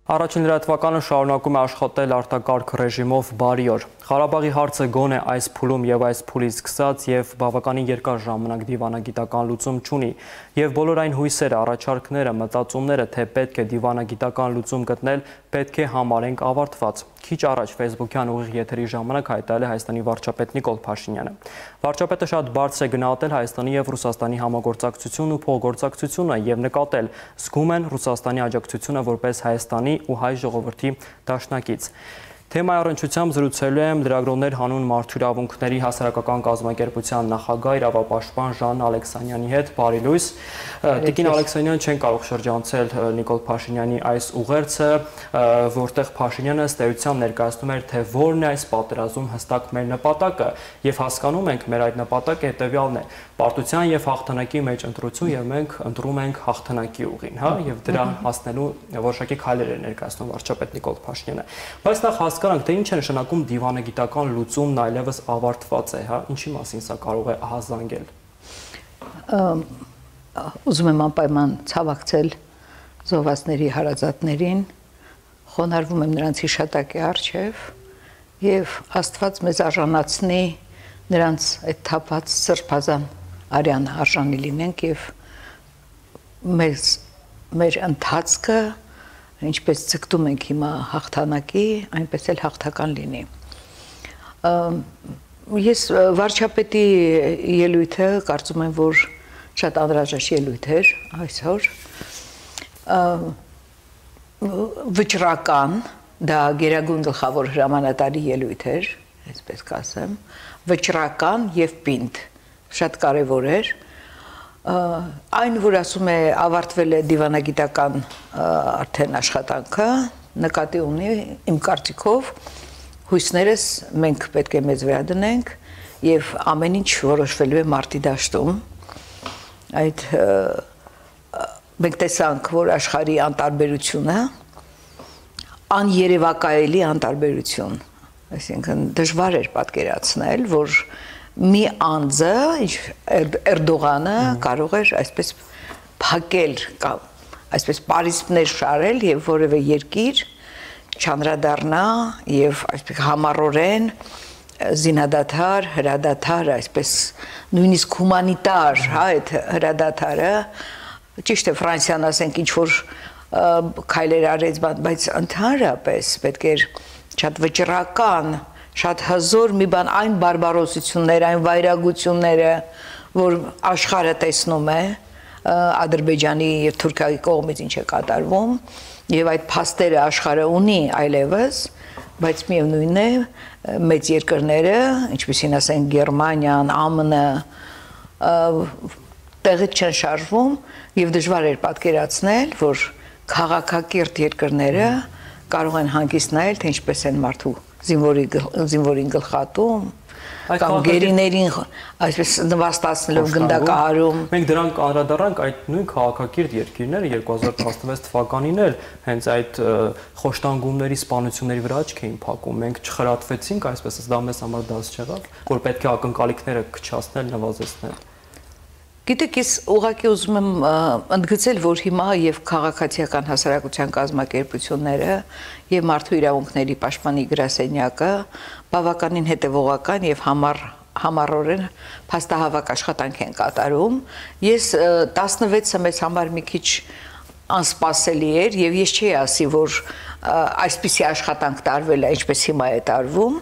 Առաջին լրատվականը շարունակում է աշխատել արտակարգ ռեժիմով բարի օր։ Ղարաբաղի հարցը գոնե այս փուլում եւ այս փուլից սկսած եւ բավականին երկար ժամանակ դիվանագիտական լուծում չունի եւ բոլոր այն հույսերը, առաջարկները, մտածումները, թե պետք է դիվանագիտական լուծում գտնել, պետք է համարենք ավարտված։ Քիչ առաջ Facebook-յան ուղիղ եթերի ժամանակ հայտարարել է Հայաստանի վարչապետ Նիկոլ Փաշինյանը։ Վարչապետը շատ բարձր է գնահատել Հայաստանի եւ Ռուսաստանի համագործակցությունն ու փոխգործակցությունը եւ նկատել զգում են Ռուսաստանի աջակցությունը որպես Հայաստանի ու հայ ժողովրդի դաշնակից։ Թեմայի առնչությամբ զրուցելու եմ լրագրողներ հանուն մարդու իրավունքների հասարակական կազմակերպության նախագահ իրավապաշտպան Ժան Ալեքսանյանի հետ։ Բարի լույս։ Տիկին Ալեքսանյանը չեն կարող շրջանցել Նիկոլ Փաշինյանի այս ուղերձը, որտեղ Փաշինյանը ըստ էության ներկայացնում էր, թե որն է այս պատերազմում հստակ մեր նպատակը, եւ հասկանում ենք, մեր այդ նպատակը հետեւյալն է՝ պարտության եւ հաղթանակի մեջ ընտրություն, եւ մենք ընտրում ենք հաղթանակի ուղին, հա, եւ դրա հասնելու որոշակի քայլեր է ներկայացնում վարչապետ Նիկոլ Փաշինյանը։ Բայց նախ հասկանանք, թե ինչ է նշանակում դիվանագիտական լուծումն այլևս ավարտված է, հա, ինչի մասին սա կարող է ահազանգել։ Ուզում եմ անպայման ցավակցել զոհվածների հարազատներին, խոնարհվում եմ նրանց հիշատակի առջև եւ Աստված մեզ արժանացնի նրանց այդ թափած սրբազան արյան արժանի լինենք եւ մեր ընթացքը ինչպես ցկտում ենք հիմա հաղթանակի, այնպես էլ հաղթական լինի։ Ես վարչապետի ելույթը կարծում եմ, որ շատ անհրաժեշտ ելույթ էր այսօր։ Վճռական, դա գերագույն գլխավոր հրամանատարի ելույթ էր, այսպես կասեմ, վճռական եւ պինդ, շատ կարեւոր էր։ Այն, որ ասում է ավարտվել է դիվանագիտական արդեն աշխատանքը, նկատի ունի իմ կարծիքով հույսներս մենք պետք է մեզ վերադնենք եւ ամեն ինչ որոշվելու է մարտի դաշտում։ Այդ մենք տեսանք, որ աշխարհի անտարբերությունը աներևակայելի անտարբերություն, այսինքն դժվար էր պատկերացնել, որ մի անձը, Էրդողանը կարող էր այսպես փակել կամ այսպես պարիսպներ շարել եւ որևէ երկիր չանդրադառնա եւ այսպես համառորեն զինադադար, հրադադար, այսպես նույնիսկ հումանիտար, հա, այդ հրադադարը ճիշտ է Ֆրանսիան ասենք ինչ որ քայլեր արեց, բայց ընդհանրապես պետք էր շատ վճռական, շատ հզոր մի բան այն բարբարոսությունները, այն վայրագությունները, որ աշխարհը տեսնում է Ադրբեջանի եւ Թուրքիայի կողմից ինչ է կատարվում, եւ այդ փաստերը աշխարհը ունի այլևս, բայց միևնույնն է մեծ երկրները, ինչպեսին ասենք Գերմանիան, ԱՄՆ-ը տեղից չեն շարժվում եւ դժվար էր պատկերացնել, որ քաղաքակիրթ երկրները կարող են հանգիստ նայել, թե ինչպես են մարդու զինվորին գլխատում կամ գերիներին այսպես նվաստացնելով գնդակահարում։ Մենք դրանք անդրադառնանք այդ նույն քաղաքակիրթ երկիրները 2016 թվականին էլ հենց այդ խոշտանգումների սպանությունների վրա աչք էին փակում։ Մենք չխրատվեցինք, այսպես դա մեզ համար դաս չեղավ, որ պետք է ակնկալիքները քչացնել, նվազեցնել։ Գիտեք, ես ուղղակի ուզում եմ ընդգծել, որ հիմա եւ քաղաքացիական հասարակության կազմակերպությունները եւ մարդու իրավունքների պաշտպանի գրասենյակը բավականին հետեւողական եւ համառորեն փաստահավաք աշխատանք են կատարում։ Ես 16-ը մեզ համար մի քիչ անսպասելի էր եւ ես չի ասի, որ այսպիսի աշխատանք տարվել է, ինչպես հիմա է տարվում։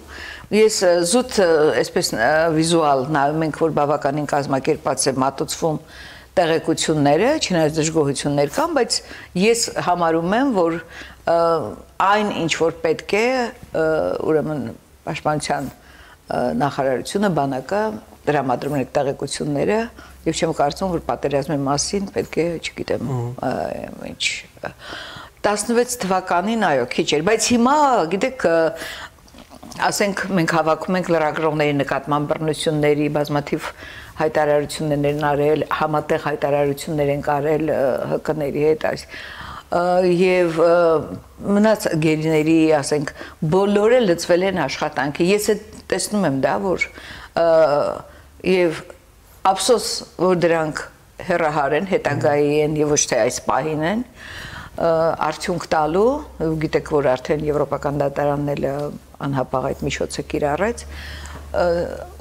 Ես զուտ այսպես վիզուալ նայում ենք, որ բավականին կազմակերպած է մատուցվում տեղեկությունները, չնայած դժգոհություններ կան, բայց ես համարում եմ, որ այն ինչ որ պետք է, ուրեմն պաշտպանության նախարարությունը, բանակը տրամադրում են տեղեկությունները եւ չեմ կարծում, որ պատերազմի մասին պետք է, չգիտեմ, ինչ 16 թվականին այո, քիչ էր, բայց հիմա գիտեք ասենք մենք հավաքում ենք լրագրողների նկատմամբ բռնությունների բազմաթիվ հայտարարություններ են արել, համատեղ հայտարարություններ են արել ՀԿ-ների հետ եւ մնաց գերիների, ասենք, բոլորը լծվել են աշխատանքի։ Ես տեսնում եմ դա, որ եւ ափսոս, որ դրանք հեռահար են, հետագայի են եւ ոչ թե այս պահին են, արդյունք տալու, գիտեք, որ արդեն եվրոպական դատարանն էլ անհապաղ այդ միջոցը կիրառեց,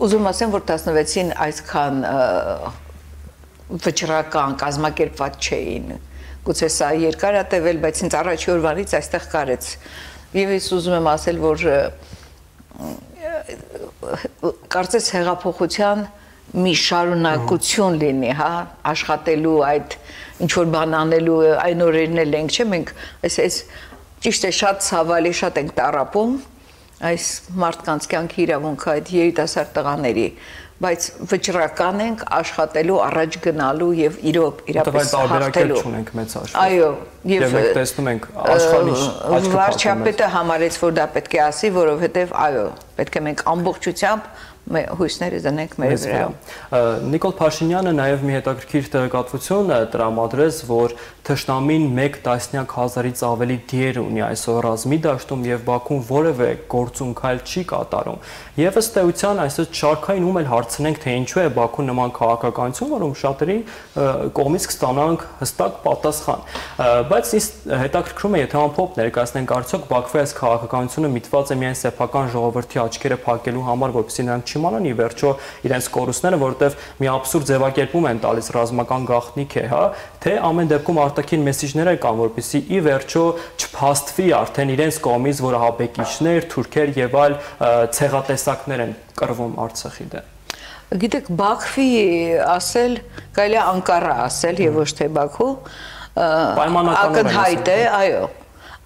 ուզում ասեմ, որ 16-ին այսքան վճռական, կազմակերպված չէին, գուցե սա երկար է տևել, բայց ինձ առաջի օրվանից այստեղ կարեց, եւ ես ուզում եմ ասել, որ կարծես հեղափոխության մի շարունակություն լինի, հա, աշխատելու այդ ինչ-որ բան անելու այն օրերն էլ ենք, չէ՞, մենք այս ճիշտ է շատ ցավալի, շատ ենք տառապում այս մարդկանց կյանքի իրավունքը այդ երիտասարդ տղաների, բայց վճռական ենք աշխատելու, առաջ գնալու եւ իրապես հաղթելու։ Չունենք մեծ աշխարհ։ Այո, եւ մենք տեսնում ենք աշխարհի վարչապետը համարեց, որ դա պետք է ասի, որովհետեւ այո, պետք է մենք ամբողջությամբ հույսները դնենք մեր վրա։ Նիկոլ Փաշինյանը նաև մի հետաքրքիր տեղեկատվություն տրամադրեց, որ թշնամին 1 տասնյակ հազարից ավելի դիեր ունի այսօր ռազմի դաշտում եւ Բաքուն որևէ գործուն քայլ չի կատարում։ Եվ ըստ էության այսօր շարքային ում էլ հարցնենք, թե ինչու է Բաքուն նման քաղաքականություն, որում շատերի կողմից կստանանք հստակ պատասխան։ Բայց ինձ հետաքրքրում է, եթե ամփոփ ներկայացնենք, արդյոք Բաքվի այս քաղաքականությունը միտված է միայն սեփական ժողովրդի աչքերը փակելու համար, որպեսզի նրանք չիմանան ի վերջո իրենց կորուստները, որովհետև մի աբսուրդ ձևակերպում են տալիս ռազմական գաղտնիք է, հա, թե ամեն դեպքում արտաքին մեսիջներ կան, որպեսզի ի վերջո չփաստվի արդեն իրենց կողմից, որ ահաբեկիչներ, թուրքեր եւ այլ ցեղատեսակներ են կռվում Արցախի դեմ։ Գիտեք, Բաքվի ասել, կարելի է Անկարա ասել եւ ոչ թե Բաքու, ակնհայտ է, այո,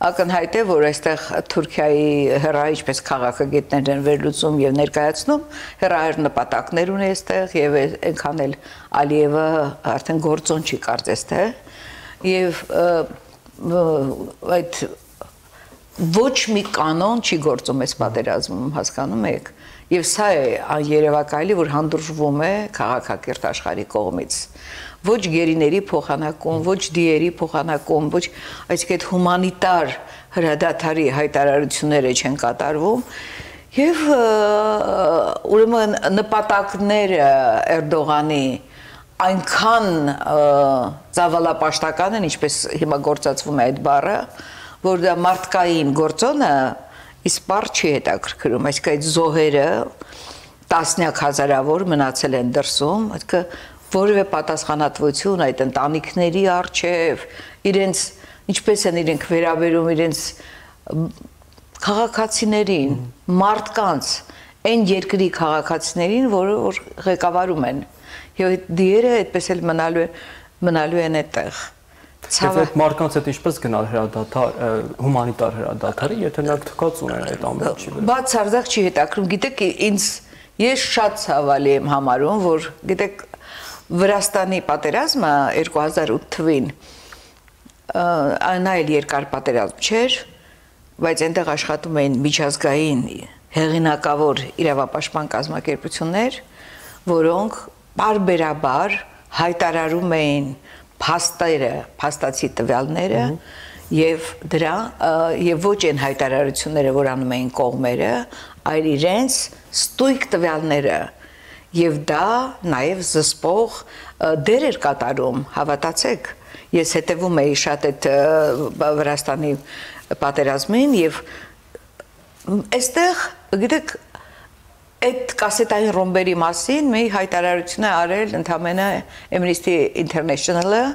ակնհայտ է, որ այստեղ Թուրքիայի հեռահար ինչպես քաղաքագետներ են վերլուծում եւ ներկայացնում, հեռահար նպատակներ ունի այստեղ եւ այնքան էլ Ալիևը արդեն գործոն չի կարծես թե եւ այդ ոչ մի կանոն չի գործում այս պատերազմում, հասկանում եք, եւ սա է երևակայելի, որ հանդուրժվում է քաղաքակիրթ աշխարհի կողմից։ Ոչ գերիների փոխանակում, ոչ դիերի փոխանակում, ոչ այսինքն այդ հումանիտար հրադադարի հայտարարությունները չեն կատարվում եւ ուրեմն նպատակները Էրդողանի այնքան ծավալապաշտական են, ինչպես հիմա գործածվում է այդ բառը, որ դա մարդկային գործոնը իսպառ չի հետաքրքրում, այսինքն այդ զոհերը տասնյակ հազարավոր մնացել են դրսում, այսինքն որևէ պատասխանատվություն այդ ընտանիքների առջև, իրենց ինչպես են իրենք վերաբերում իրենց քաղաքացիներին, մարդկանց, այն երկրի քաղաքացիներին, որ ղեկավարում են, եւ այդ դիերը այդպես էլ մնալու են այդտեղ։ Եվ այդ մարդկանց հետ ինչպես գնալ հրադադար, հումանիտար հրադադարի, եթե նրանք թքած ունեն այդ ամենի վրա։ Բացարձակ չի հետաքրքրում, գիտեք, ես շատ ցավալի եմ համարում, որ գիտեք Վրաստանի պատերազմը 2008 թվին այն այլ երկար պատերազմ չէր, բայց այնտեղ աշխատում էին միջազգային հեղինակավոր իրավապաշտպան կազմակերպություններ, որոնք բարբերաբար հայտարարում էին փաստերը, փաստացի տվյալները եւ դրա եւ ոչ այն հայտարարությունները, որ անում էին կողմերը, այլ իրենց ստույգ տվյալները եւ դա նաեւ զսպող դեր էր կատարում, հավատացեք, ես հետևում էի շատ այդ Վրաստանի պատերազմին եւ այստեղ գիտեք այդ կասետային ռոմբերի մասին մի հայտարարություն է արել ընդամենը Amnesty International-ը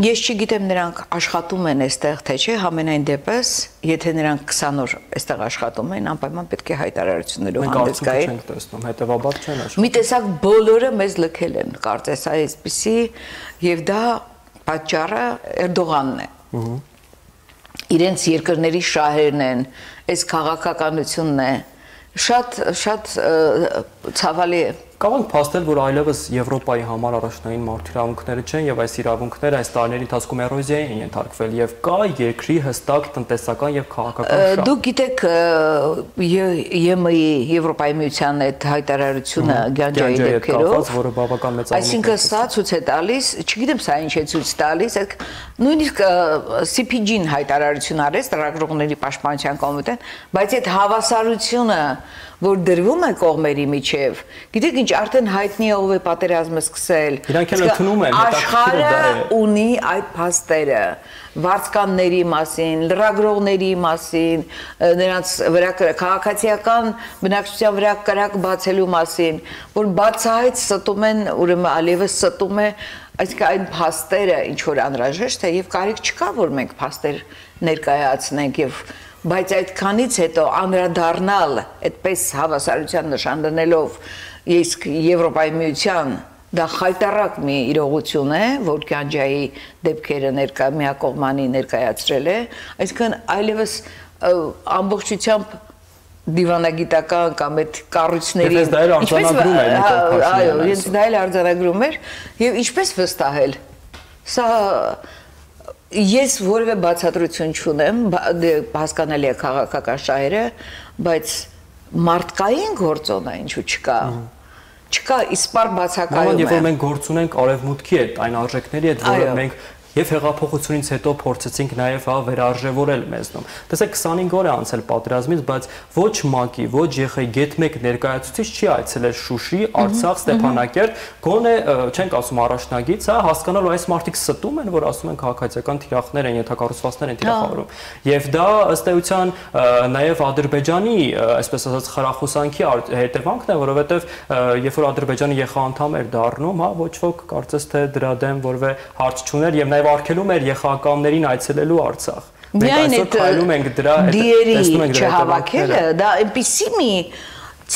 ես չգիտեմ նրանք աշխատում են այստեղ թե չէ համենայն դեպս եթե նրանք 20 օր այստեղ աշխատում են անպայման պետք է հայտարարություններով հանդես գային մենք տեսնում հետեւաբար չեն աշխատում մի տեսակ բոլորը մեզ լքել են կարծես այսպեսի եւ դա պատճառը Էրդողանն է իրենց երկրների շահերն են այս քաղաքականությունն է շատ ցավալի է Կարող փաստել, որ այլևս Եվրոպայի համար առաջնային մարդու իրավունքները չեն եւ այս իրավունքները այս տարիների ընթացքում էրոզիայի են ենթարկվել եւ կա երկրի հստակ տնտեսական եւ քաղաքական շահ։ Դուք գիտեք ԵՄ-ի Եվրոպայի միության այդ հայտարարությունը Գանջայի դեպքերով, որը բավական մեծ այսինքն սա ցույց է տալիս, չգիտեմ սա ինչ է ցույց տալիս, նույնիսկ CPG-ն հայտարարություն արեց Ծրագրողների պաշտպանության կոմիտեն, բայց այդ հավասարությունը որ դրվում է կողմերի միջև, գիտեք ինչ, արդեն հայտնի է ով է պատերազմը սկսել։ Իրանք էլ ընդունում են, աշխարհը ունի այդ փաստերը, վարձկանների մասին, լրագրողների մասին, նրանց վրա քաղաքացիական բնակչության վրա կրակ բացելու մասին, որ բացահայտ ստում են, ուրեմն ալևս ստում է, այսինքն այն փաստերը ինչ որ անհրաժեշտ է եւ կարիք չկա որ մենք փաստեր ներկայացնենք եւ բայց այդքանից հետո անդրադառնալ այդպես հավասարության նշան դնելով իսկ Եվրոպայի միության դա խայտարակ մի իրողություն է որ Գանջայի դեպքերը միակողմանի ներկայացրել է այսինքն այլևս ամբողջությամբ դիվանագիտական կամ այդ կառույցների այո, ինձ դա էլ արձանագրում էր եւ ինչպես վստահել սա ես որևէ բացատրություն չունեմ հասկանալի է քաղաքական շահերը բայց մարդկային գործոն է ինչու չկա իսպար բացակայում է Երբ որ մենք գործ ունենք արևմուտքի հետ այն արժեքների հետ որը մենք Եվ հեղափոխությունից հետո փորձեցինք նաև վերարժևորել մեզնում։ Տեսեք 25 օր է անցել պատերազմից, բայց ոչ ՄԱԿ-ի, ոչ ԵԽ-ի գետ-մեկ ներկայացուցիչ չի այցելել Շուշի, Արցախ, Ստեփանակերտ, գոնե չենք ասում առաջնագից, հա, հասկանալու այս մարդիկ ստում են, որ ասում են քաղաքացիական թիրախներ են, ենթակառուցվածքներ են թիրախավորում։ Եվ դա ըստ էության նաև Ադրբեջանի, այսպես ասած, խրախուսանքի հետևանքն է, որովհետև երբ որ Ադրբեջանը ԵԽ անդամ էր դառնում, հա, ոչ ոք կարծես թե դրա դեմ որևէ հարց չուներ եւ նաև արգելում էր ԵԽԱԿ-ներին այցելելու Արցախ։ Մենք այսօր քայլում ենք դրա չհավաքելը, դա այնպիսի մի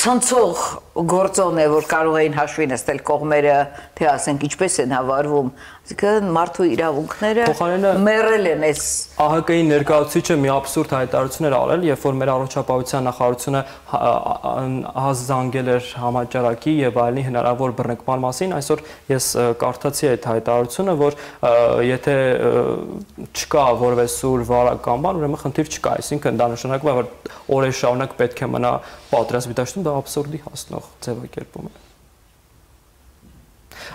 ցնցող գործոն է, որ կարող էին հաշվի նստել կողմերը, թե ասենք ինչպես են հավարվում, այսինքն մարդու իրավունքները մեռել են այս ԱՀԿ-ի ներկայացուցիչը մի աբսուրդ հայտարարություն էր արել, երբ որ մեր առողջապահության նախարարությունը հազանգել էր համաճարակի եւ այլնի հնարավոր բռնկման մասին, այսօր ես կարդացի այդ հայտարարությունը, որ եթե չկա որևէ սուր վարական բան, ուրեմն խնդիր չկա, այսինքն դա նշանակում է, որ օրեր շարունակ պետք է մնա պատրաստի դաշտում, դա աբսուրդի հասնող ձևակերպում է։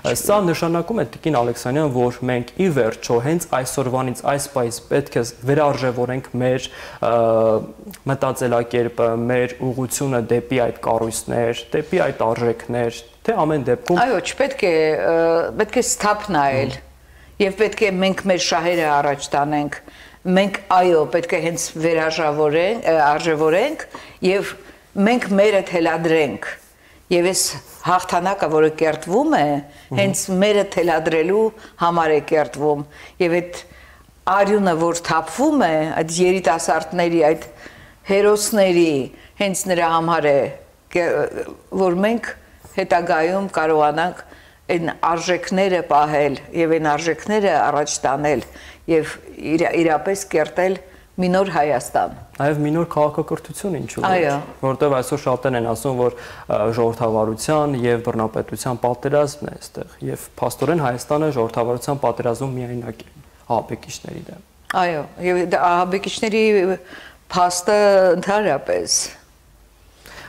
Սա նշանակում է Տիկին Ալեքսանյան, որ մենք ի վերջո հենց այսօրվանից այս պայից պետք է վերարժևորենք մեր մտածելակերպը, մեր ուղղությունը դեպի այդ կառույցներ, դեպի այդ արժեքներ, թե ամեն դեպքում Այո, չպետք է սթափ նայել եւ պետք է մենք մեր շահերը առաջ տանենք։ Մենք այո, պետք է հենց վերարժևորենք եւ մենք մերը թելադրենք եւ այս հաղթանակը, որը կերտվում է, հենց մերը թելադրելու համար է կերտվում եւ այդ արյունը, որ թափվում է, այդ երիտասարդների, այդ հերոսների, հենց նրա համար է, որ մենք հետագայում կարողանանք այն արժեքները պահել եւ այն արժեքները առաջ տանել եւ իրապես կերտել մի նոր Հայաստան։ Նաև մի նոր քաղաքակրթություն ինչու ոչ, որտեղ այսօր շատերն են ասում, որ ժողովրդավարության եւ բռնապետության պատերազմն է այստեղ եւ փաստորեն Հայաստանը ժողովրդավարության պատերազմում միայնակ է ահաբեկիչների դեմ։ Այո, եւ ահաբեկիչների փաստը ընդհանրապես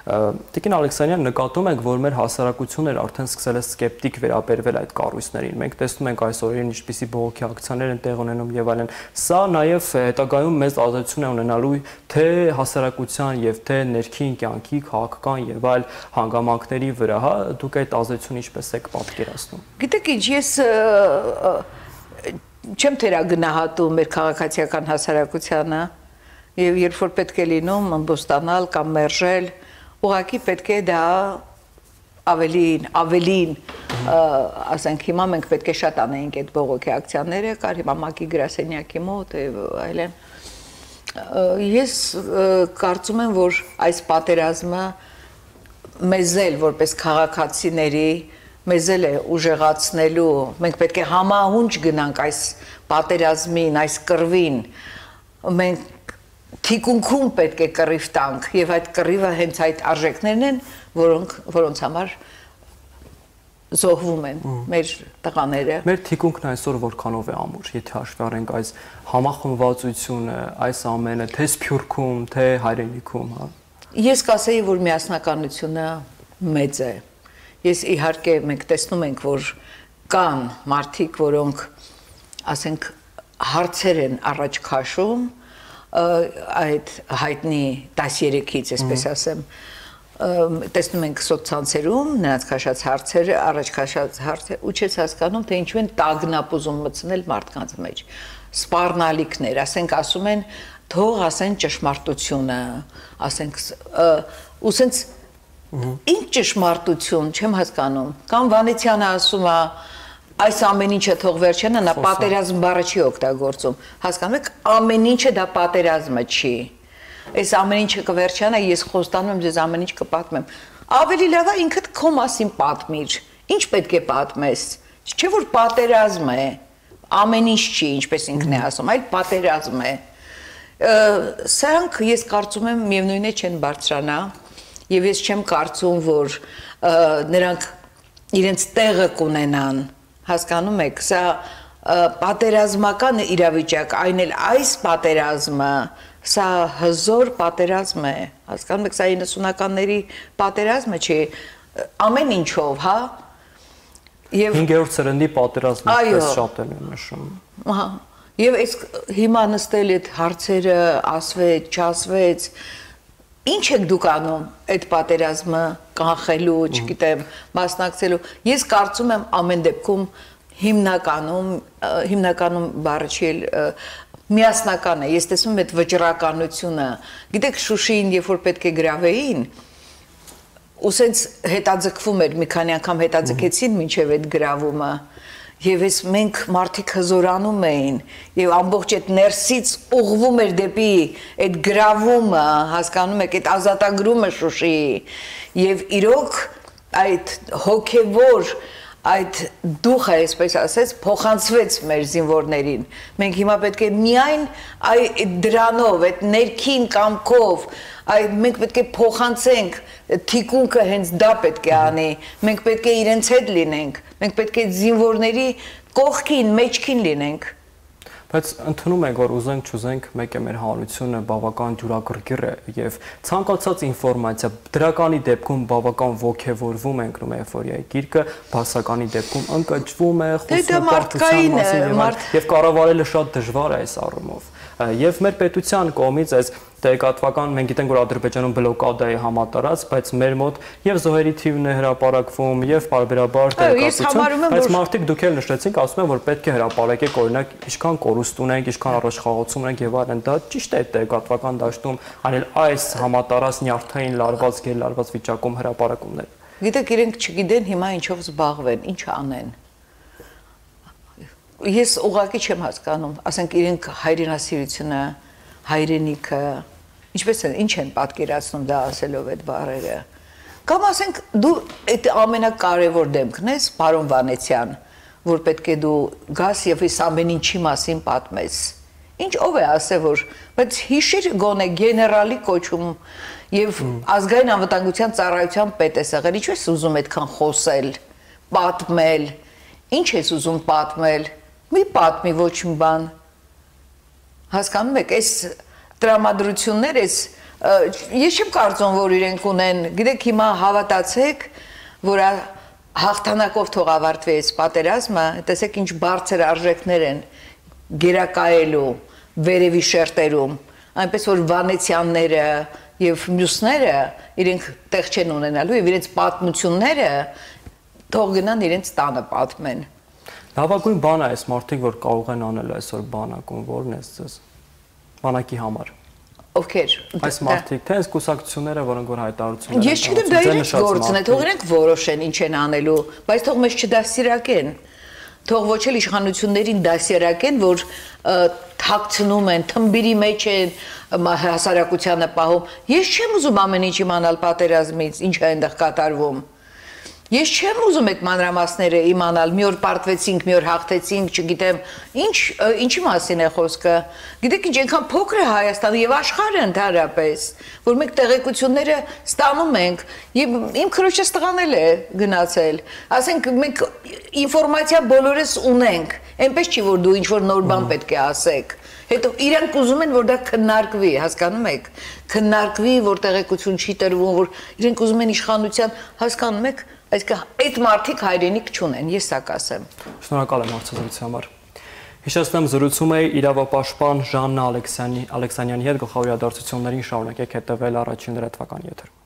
Տիկին Ալեքսանյան, նկատում ենք, որ մեր հասարակությունն արդեն սկսել է սկեպտիկ վերաբերվել այդ կառույցներին։ Մենք տեսնում ենք այս օրերին ինչպիսի բողոքի ակցիաներ են տեղ ունենում եւ այլն։ Սա նաեւ հետագայում մեծ ազդեցություն է ունենալու թե հասարակության եւ թե ներքին կյանքի, քաղաքական եւ այլ հանգամանքների վրա, հա, դուք այդ ազդեցությունը ինչպես եք պատկերացնում։ Գիտեք ինչ, ես չեմ թերագնահատում մեր քաղաքացիական հասարակությանը եւ երբ որ պետք է լինում ամբոստանալ կամ մերժել ուղղակի պետք է դա ավելին ասենք հիմա մենք պետք է շատ անեինք այդ բողոքի ակցիաները կար հիմա ՄԱԿ-ի գրասենյակի մոտ եւ այլն ես կարծում եմ որ այս պատերազմը մեզ էլ որպես քաղաքացիների մեզ էլ է ուժեղացնելու մենք պետք է համահունչ գնանք այս պատերազմին այս կռվին մենք թիկունքում պետք է կռիվ տանք եւ այդ կռիվը հենց այդ արժեքներն են, որոնց համար զոհվում են մեր տղաները։ Մեր թիկունքն այսօր որքանով է ամուր, եթե հաշվի առնենք այս համախմբվածությունը, այս ամենը, թե Սփյուռքում, թե հայրենիքում, հա։ Ես կասեի, որ միասնականությունը մեծ է։ Ես իհարկե մենք տեսնում ենք, որ կան մարդիկ, որոնք ասենք հարցեր են առաջ քաշում այդ հայտնի 13-ից, այսպես ասեմ, տեսնում ենք սոցցանցերում նրանց քաշած հարցերը, առաջ քաշած հարցերը, ու չես հասկանում, թե ինչու են տագնապ ուզում մտցնել մարդկանց մեջ։ Սպառնալիքներ, ասենք ասում են, թող ասեն ճշմարտությունը, ասենք ու սենց ինչ ճշմարտություն, չեմ հասկանում։ Կամ Վանեցյանը ասում է, այս ամեն ինչը թող վերջանա, նա պատերազմ բառը չի օգտագործում։ Հասկանում եք, ամեն ինչը դա պատերազմը չի։ Այս ամեն ինչը կվերջանա, ես խոստանում եմ ձեզ ամեն ինչ կպատմեմ։ Ավելի լավ է ինքդ քո մասին պատմիր։ Ինչ պետք է պատմես։ Չէ՞ որ պատերազմ է։ Ամեն ինչ չի, ինչպես ինքն է ասում, այլ պատերազմ է։ Սրանք ես կարծում եմ միևնույն է չեն բարձրանա, եւ ես չեմ կարծում, որ նրանք իրենց տեղը կունենան, հասկանում եք, սա պատերազմական իրավիճակ, այն էլ այս պատերազմը, սա հզոր պատերազմ է, հասկանում եք, սա 90-ականների պատերազմը չի, ամեն ինչով, հա, եւ 5-րդ սերնդի պատերազմը պես շատ են նշում։ Ահա, եւ այս հիմա նստել այդ հարցերը ասվեց, չասվեց, ինչ եք դուք անում այդ պատերազմը կանխելու, չգիտեմ, մասնակցելու։ Ես կարծում եմ ամեն դեպքում հիմնականում բառը չի միասնական է, ես տեսնում եմ այդ վճռականությունը, գիտեք Շուշիին, երբ որ պետք է գրավեին, ու սենց հետաձգվում էր, մի քանի անգամ հետաձգեցին մինչև այդ գրավումը, եւ ես մենք մարդիկ հզորանում էին, եւ ամբողջ այդ ներսից ուղղվում էր դեպի այդ գրավումը, հասկանում եք, այդ ազատագրումը Շուշիի, եւ իրոք այդ հոգեվոր այդ դուխը, այսպես ասած, փոխանցվեց մեր զինվորներին։ Մենք հիմա պետք է միայն դրանով, այդ ներքին կամքով, մենք պետք է փոխանցենք, թիկունքը հենց դա պետք է անի, մենք պետք է իրենց հետ լինենք, մենք պետք է զինվորների կողքին, մեջքին լինենք։ Բայց ընդունում ենք, որ ուզենք չուզենք, մեկ է մեր հանրությունը բավական ջուրակրկիր է եւ ցանկացած ինֆորմացիա դրականի դեպքում բավական ոգևորվում ենք նույն էйֆորիայի գիրկը, բասականի դեպքում ընկճվում է, խոսում մարդկային եւ կառավարելը շատ դժվար է այս առումով։ Եվ մեր պետության կողմից այս տեղեկատվական, մենք գիտենք, որ Ադրբեջանում բլոկադա է համատարած, բայց մեր մոտ եւ զոհերի թիվն է հրապարակվում եւ բարբերաբար տեղեկատվություն, բայց մարդիկ դուք էլ նշեցինք, ասում են, որ պետք է հրապարակեք, օրինակ, ինչքան կորուստ ունենք, ինչքան առաջխաղացում ունենք եւ այլն, դա ճիշտ է տեղեկատվական դաշտում, այլ այս համատարած նյարդային լարված, գերլարված վիճակում հրապարակումներ։ Գիտեք, իրենք չգիտեն հիմա ինչով զբաղվեն, ինչ անեն։ Ես ուղղակի չեմ հասկանում, ասենք իրենք հայրենասիրությունը, հայրենիքը, ինչպես են, ինչ են պատկերացնում դա ասելով այդ բառերը։ Կամ ասենք դու այդ ամենակարևոր դեմքն ես, պարոն Վանեցյան, որ պետք է դու գաս եւ այս ամեն ինչի մասին պատմես։ Ինչ ով է ասել, որ բայց հիշիր գոնե գեներալի կոչում եւ ազգային անվտանգության ծառայության պետ ես եղել, ինչու ես ուզում այդքան խոսել, պատմել, ինչ ես ուզում պատմել։ Մի պատմի ոչ մի բան։ Հասկանում եք, այս տրամադրություններ, ես չեմ կարծում, որ իրենք ունեն, գիտեք, հիմա հավատացեք, որ հաղթանակով թող ավարտվի այս պատերազմը, տեսեք ինչ բարձր արժեքներ են գերակայելու վերևի շերտերում, այնպես որ Վանեցյանները եւ մյուսները իրենք տեղ չեն ունենալու եւ իրենց պատմությունները թող գնան իրենց տանը պատմեն։ Լավագույն բան է այս մարդիկ, որ կարող են անել այսօր բանակում, որն է ձեզ բանակի համար։ Ովքեր։ Այս մարդիկ, թե այս կուսակցությունները, որոնք որ հայտարարություններ են։ Ես չգիտեմ, դա իրենց գործն է, թող իրենք որոշեն ինչ են անելու, բայց թող մեզ չդասիրակեն։ Թող ոչ էլ իշխանություններին դասիրակեն, որ թաքցնում են, թմբիրի մեջ են հասարակությանը պահում։ Ես չեմ ուզում ամեն ինչ իմանալ պատերազմից, ինչ է այնտեղ կատարվում։ Ես չեմ ուզում այդ մանրամասները իմանալ, մի օր պարտվեցինք, մի օր հաղթեցինք, չգիտեմ, ինչի մասին է խոսքը։ Գիտեք ինչ, այնքան փոքր է Հայաստանը եւ աշխարհը ընդհանրապես, որ մենք տեղեկությունները ստանում ենք եւ իմ քրոջս տղան էլ է գնացել։ Ասենք մենք ինֆորմացիա բոլորս ունենք, այնպես չի որ դու ինչ որ նոր բան պետք է ասեք։ Հետո իրանք ուզում են որ դա քննարկվի, հասկանում եք, քննարկվի, որ տեղեկություն չի տրվում, որ իրենք ուզում են իշխանության, հասկանում եք, այսինքն այդ մարդիկ հայրենիք չունեն, ես սա կասեմ։ Շնորհակալ եմ հարցազրույցի համար։ Հիշեցնեմ, զրուցում էի իրավապաշտպան Ժաննա Ալեքսանյանի հետ, գլխավոր իրադարձություններին շարունակեք հետևել Առաջին լրատվական եթերում։